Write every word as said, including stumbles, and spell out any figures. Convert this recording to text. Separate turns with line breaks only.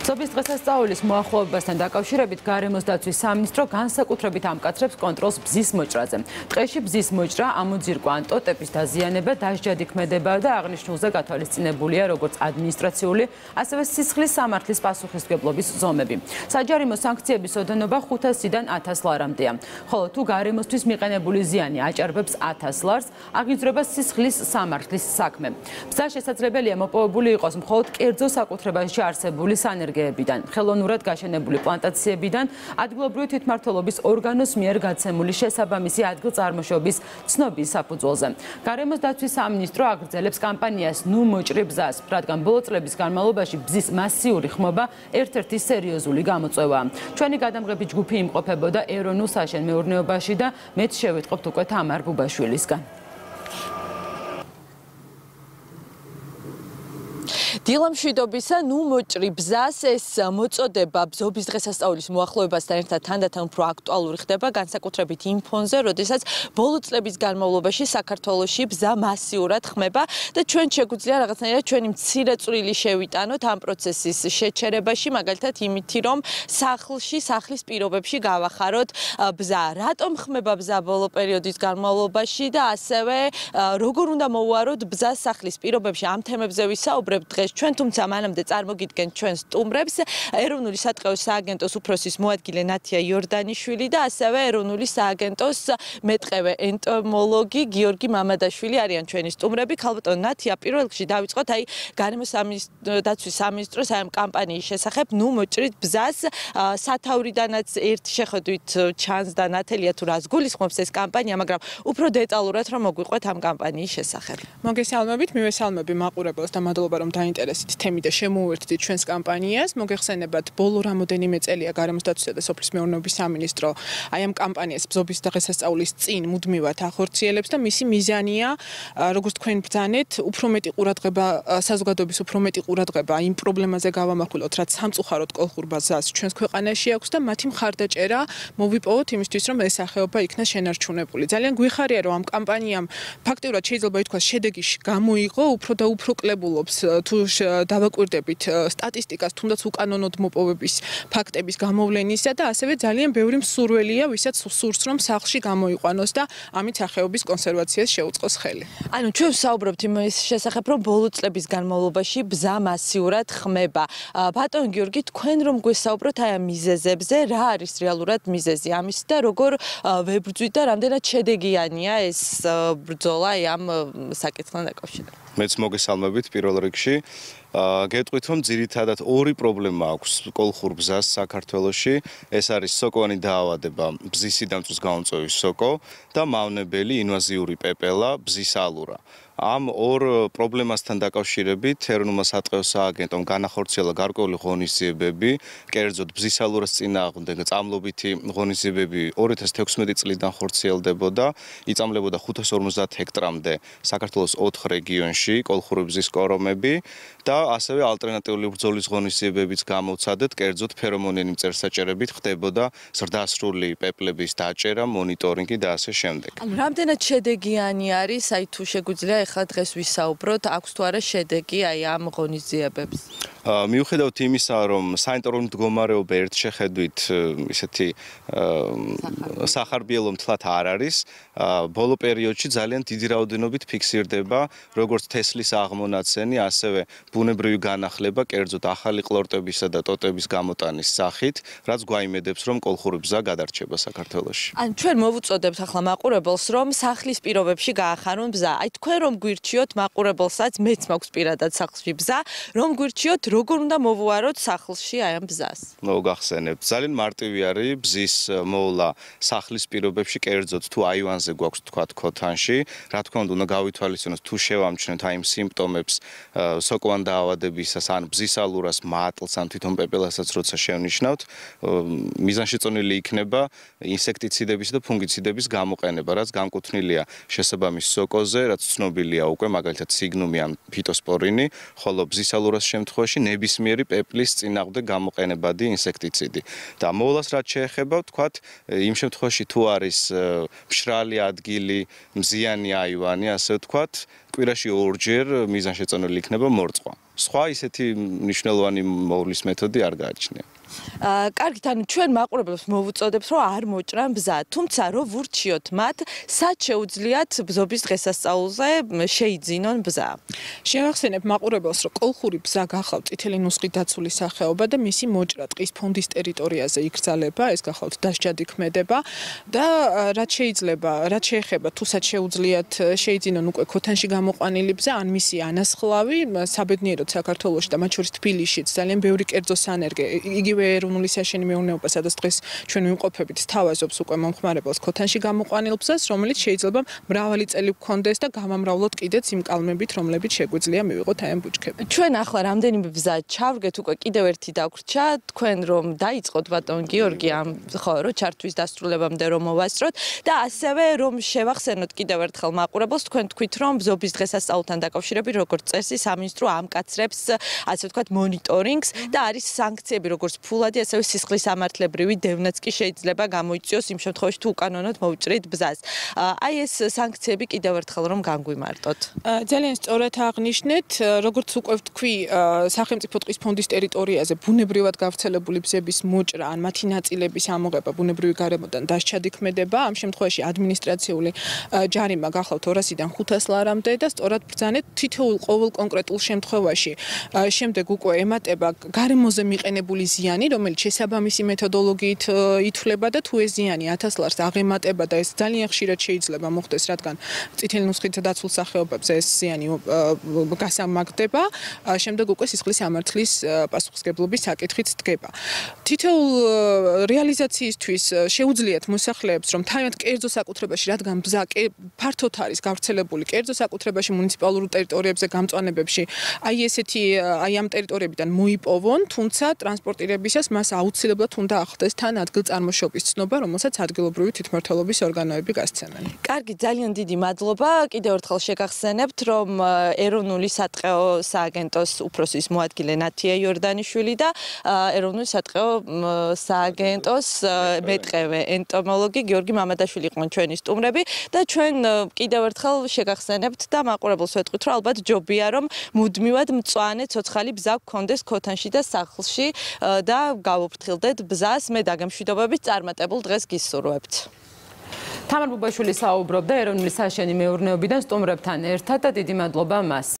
Სოფლის დღესასწაულის მოახლოებასთან დაკავშირებით გარემოს დაცვის სამინისტრო განსაკუთრებით ამკაცრებს კონტროლს ბზის მოჭრაზე. Დღეში ბზის მოჭრა, ამოძირკვა ან ტოტების დაზიანება, დასჯადი ქმედება და აღნიშნულზე გათვალისწინებულია როგორც ადმინისტრაციული, ასევე სისხლის სამართლის პასუხისმგებლობის ზომები. საჯარიმო სანქციების ოდენობა ხუთასიდან ათას ლარამდეა. ხოლო თუ გარემოსთვის მიყენებული ზიანი აჭარბებს ათას ლარს, აღიძვრება სისხლის სამართლის საქმე. ბზა შესაძლებელია მოპოვებული იყოს მხოლოდ კერძო საკუთრებაში არსებული სანერგეებიდან, ხელოვნურად გაშენებული პლანტაციებიდან, ადგილობრივი თვითმმართველობის ორგანოს მიერ გაცემული შესაბამისი ადგილწარმოშობის ცნობის საფუძველზე. გარემოს დაცვის სამინისტრო აგრძელებს კამპანიას ნუ მოჭრი ბზას, რადგან ბოლო წლების განმავლობაში ბზის მასიური ხმობა ერთ-ერთი სერიოზული გამოწვევაა. ჩვენი გადამღები ჯგუფი იმყოფებოდა ეროვნულ საშენ-მეურნეობაში და მეც შევიტყობთ უკვე თამარ ბუბაშვილისგან. დილამშვიდობისა, ნუ მოჭრი ბზას ეს მოწოდება ბზობის დღესასწაულის მოახლოებასთან ერთად თანდათან უფრო აქტუალური ხდება, განსაკუთრებით იმ ფონზე, როდესაც ბოლო წლების განმავლობაში საქართველოში ბზა მასიურად ხმება და ჩვენ შეგვიძლია რაღაცნაირად ჩვენი მცირე წვლილი შევიტანოთ ამ პროცესის შეჩერებაში, მაგალითად იმითი, რომ სახლში, სახლის პირობებში გავახაროთ ბზა. რატომ ხმება ბზა ბოლო პერიოდის განმავლობაში და ასევე როგორ უნდა მოვუაროთ ბზას სახლის პირობებში, ამ თემებზე ვისაუბრებთ დღეს ჩვენ, თუმცა მანამდე წარმოგიდგენთ ჩვენ სტუმრებს, ეროვნული სატყეო სააგენტოს უფროსის მოადგილე ნათია იორდანიშვილი და ასევე ეროვნული სააგენტოს მეტყევე ენტომოლოგი გიორგი მამადაშვილი არიან ჩვენი სტუმრები. ქალბატონ ნათია, პირველ რიგში დავიწყოთ აი გარემოს დაცვის სამინისტროს ამ კამპანიის შესახებ, ნუ მოჭრით ბზას, სათავრიდანაც ერთი შეხედვით ჩანს და ნათელია თუ რას გულისხმობს ეს კამპანია, მაგრამ უფრო დეტალურად რომ მოგვიყვეთ ამ კამპანიის შესახებ.
მოგესალმებით, მივესალმები მაყურებელს და მადლობა რომ დაინტერესით თემით და შემოუერთდით ჩვენს კამპანიას. მოგეხსენებათ, ბოლო რამოდენიმე წელია გარემოს დაცვისა და სოფლის მეურნეობის სამინისტრო აი ამ კამპანიას ბზობის დღესასწაულის წინ მუდმივად ახორციელებს და მისი მიზანია, როგორც თქვენ ბრძანეთ, უფრო მეტი ყურადღება, საზოგადოების უფრო მეტი ყურადღება იმ პრობლემაზე გავამახვილოთ, რაც სამწუხაროდ კოლხურ ბაზას ჩვენს ქვეყანაში აქვს და მათი მხარდაჭერა მოვიპოვოთ იმისთვის, რომ ეს სახეობა იქნას შენარჩუნებული. ძალიან გვიხარია, რომ ამ კამპანიამ ფაქტიურად შეიძლება ითქვას შედეგი გამოიღო, უფრო და უფრო კლებულობს თუ დავაკვირდებით სტატისტიკას, თუნდაც უკანონოდ მოპოვების ფაქტების გამოვლენისა და ასევე ძალიან ბევრი მსურველია, ვისაც სურს რომ სახლში გამოიყვანოს და ამით სახეობის კონსერვაციას შეუწყოს ხელი.
ანუ ჩვენ ვსაუბრობთ იმის შესახებ, რომ ბოლო წლების განმავლობაში ბზა მასიურად ხმება. ბატონ გიორგი, თქვენ რომ გვესაუბროთ აი ამ მიზეზებზე, რა არის რეალურად მიზეზი ამის და როგორ ვებრძვით და რამდენად შედეგიანია ეს ბრძოლა აი ამ საკითხთან დაკავშირებით?
მეც მოგესალმებით პირველ რიგში. გეტყვით, რომ ძირითადად ორი პრობლემა აქვს კოლხურ ბზას საქართველოში. ეს არის სოკოვანი დაავადება, ბზის სიდამწვის გამომწვევი სოკო და მავნებელი ინვაზიური პეპელა, ბზის ალურა. ამ ორ პრობლემასთან დაკავშირებით ეროვნულმა სატყეო სააგენტომ განახორციელა გარკვეული ღონისძიებები, კერძოდ ბზის ალურას წინააღმდეგ წამლობითი ღონისძიებები ორი ათას თექვსმეტი წლიდან ხორციელდებოდა, იწამლებოდა ხუთას ორმოცდაათ ჰექტრამდე საქართველოს ოთხ რეგიონში კოლხური ბზის კორომები და ასევე ალტერნატიული ბრძოლის ღონისძიებებიც გამოვცადეთ, კერძოდ ფერომონიანი მწერსაჭერებით ხდებოდა ზრდასრული პეპლების დაჭერა, მონიტორინგი და ასე შემდეგ.
ანუ რამდენად შედეგიანი არის, აი თუ შეგვიძლია ახლა დღეს ვისაუბროთ, აქვს თუ არა შედეგი აი ამ ღონისძიებებს?
მიუხედავად იმისა, რომ საინტერესო მდგომარეობა ერთ შეხედვით ისეთი სახარბიელო მთლად არ არის, ბოლო პერიოდში ძალიან დიდი რაოდენობით ფიქსირდება როგორც თესლის აღმონაცენი, ასევე ბუნებრივი განახლება, კერძოდ ახალი ყლორტებისა და ტოტების გამოტანის სახით, რაც გვაიმედებს, რომ კოლხური ბზა გადარჩება საქართველოში.
ან ჩვენ მოვუწოდებთ ახლა მაყურებელს, რომ სახლის პირობებში გაახარონ ბზა. აი თქვენ რომ გვირჩიოთ მაყურებელსაც, მეც მაქვს პირადად სახლში ბზა, რომ გვირჩიოთ, როგორ უნდა მოვუაროთ სახლში აი ამ ბზას?
მოგახსენებთ, ძალიან მარტივი არის ბზის მოვლა სახლის პირობებში, კერძოდ თუ აივანზე გვაქვს თქვა ქოთანში, რა თქმა უნდა, უნდა გავითვალისწინოთ თუ შევამჩნევთ აი იმ სიმპტომებს სოკოვან დაავადებისას ან ბზის ალურას, მატლს ან თვითონ პეპელასაც როცა შევნიშნავთ, მიზანშეწონილი იქნება ინსექტიციდების და ფუნგიციდების გამოყენება, რაც განკუთვნილია შესაბამის სოკოზე, რაც ცნობილია უკვე, მაგალითად სიგნუმი ან ფიტოსპორინი, ხოლო ბზის ალურას შემთხვევაში ნებისმიერი პეპლის წინააღმდეგ გამოყენებადი ინსექტიციდი. და მოვლას რაც შეეხება, ვთქვათ, იმ შემთხვევაში თუ არის მშრალი ადგილი, მზიანი აივანი, ასე ვთქვათ, კვირაში ორჯერ მიზანშეწონილი იქნება მორწყვა. სხვა ისეთი მნიშვნელოვანი მოვლის მეთოდი არ გააჩნია.
აა კარგით, ანუ ჩვენ მაყურებელს მოვუწოდებთ, რომ არ მოჭრან ბზა, თუმცა რო ვურჩიოთ მათ, სად შეუძლიათ ბზობის დღესასწაულზე შეიძინონ ბზა?
შევახსენებ მაყურებელს, რომ კოლხური ბზა გახავთ წითელი ნუსხით დაცული სახეობა და მისი მოჭრა ტყის ფონდის ტერიტორიაზე იკრძალება, ეს გახავთ დასჯადი ქმედება და რაც შეიძლება, რაც შეეხება თუსაც შეუძლიათ შეიძინონ უკვე ქოთანში გამოყვანილი ბზა, ან მისი ანასხლავი, საბედნიეროდ საქართველოში და მათ შორის თბილისშიც ძალიან ბევრი კერძო სანერგე, იგივე ეროვნული საშენი მეურნეობა, სადაც დღეს ჩვენ ვიმყოფებით, სთავაზობს უკვე მომხმარებელს ქოთანში გამოყვანილ ბზას, რომელიც შეიძლება მრავალი წელი გქონდეს და გამამრავლოთ კიდეც იმ კალმებით, რომლებიც შეგვიძლია მივიღოთ აი ამ ბუჩქებით.
ჩვენ ახლა რამდენიმე ბზა ჩავრგეთ, უკვე კიდევ ერთი დაგვრჩა, თქვენ რომ დაიწყოთ ბატონ გიორგი ამ ხო რომ ჩართვის დასრულებამდე რომ მოვასწროთ და ასევე რომ შევახსენოთ კიდევ ერთხელ მაყურებელს, თქვენ თქვით რომ ბზობის დღესასწაულთან დაკავშირებით როგორც წესი სამინისტრო ამკაცრებს ასე ვთქვათ მონიტორინგს და არის სანქციები როგორც ფულადი, ასევე სისხლის სამართლებრივი დევნაც კი შეიძლება გამოიწვიოს იმ შემთხვევაში თუ უკანონოდ მოვჭრით ბზას. აი ეს სანქციები კიდევ ერთხელ რომ განგვიმარტოთ.
ძალიან სწორად აღნიშნეთ, როგორც უკვე ვთქვი, სახელმწიფო ტყის ფონდის ტერიტორიაზე ბუნებრივად გავრცელებული ბზების მოჭრა ან მათი ნაწილების ამოღება ბუნებრივი გარემოდან დასჯადი ქმედება, ამ შემთხვევაში ადმინისტრაციული ჯარიმა გახავთ ორასიდან ხუთას ლარამდე და სწორად ბრძანეთ თითოეულ ყოველ კონკრეტულ შემთხვევაში. შემდეგ უკვე ემატება გარემოზე მიყენებული ზიანი, რომელიც შესაბამისი მეთოდოლოგიით ითვლება და თუ ეს ზიანი ათას ლარს აღემატება და ეს ძალიან ხშირად შეიძლება მოხდეს, რადგან წითელი ნუსხით დაცულ სახეობებზე ეს ზიანი გასამაგდება, შემდეგ უკვე სისხლის სამართლის პასუხისმგებლობის საკითხით დგება. თითოეულ რეალიზაციისთვის შეუძლიათ მოსახლეებს, რომ თავიანთ კერძო საკუთრებაში, რადგან ბზა ფართოდ არის გავრცელებული კერძო საკუთრებაში, მუნიციპალურ ტერიტორიებზე, გამწვანებებში, აი ესეთი აი ამ ტერიტორიებიდან მოიპოვონ, თუმცა ტრანსპორტირებისას მას აუცილებლად უნდა ახდეს თან ადგილწარმოშობის ცნობა, რომელსაც ადგილობრივი თვითმმართველობის ორგანოები გასცემენ.
კარგი, ძალიან დიდი მადლობა. კიდევ ერთხელ შეგახსენებთ, რომ ეროვნული სატყეო სააგენტოს უფროსის მოადგილე ნათია იორდანიშვილი და ეროვნული სატყეო სააგენტოს მეტყევე ენტომოლოგი გიორგი მამადაშვილი იყვნენ ჩვენი სტუმრები და ჩვენ კიდევ ერთხელ შეგახსენებთ და მაყურებელს ვეთქვით, რომ ალბათ ჯობია რომ მუდმივად მწვანე ცოცხალი ბზა გქონდეს ქოთანში და სახლში და გავუფრთხილდეთ ბზას. მე დაგემშვიდობებით, წარმატებულ დღეს გისურვებთ.
თამარ ბუბაშვილი საუბრობდა ეროვნული საშენი მეურნეობიდან სტუმრებთან ერთად და დიდი მადლობა მას.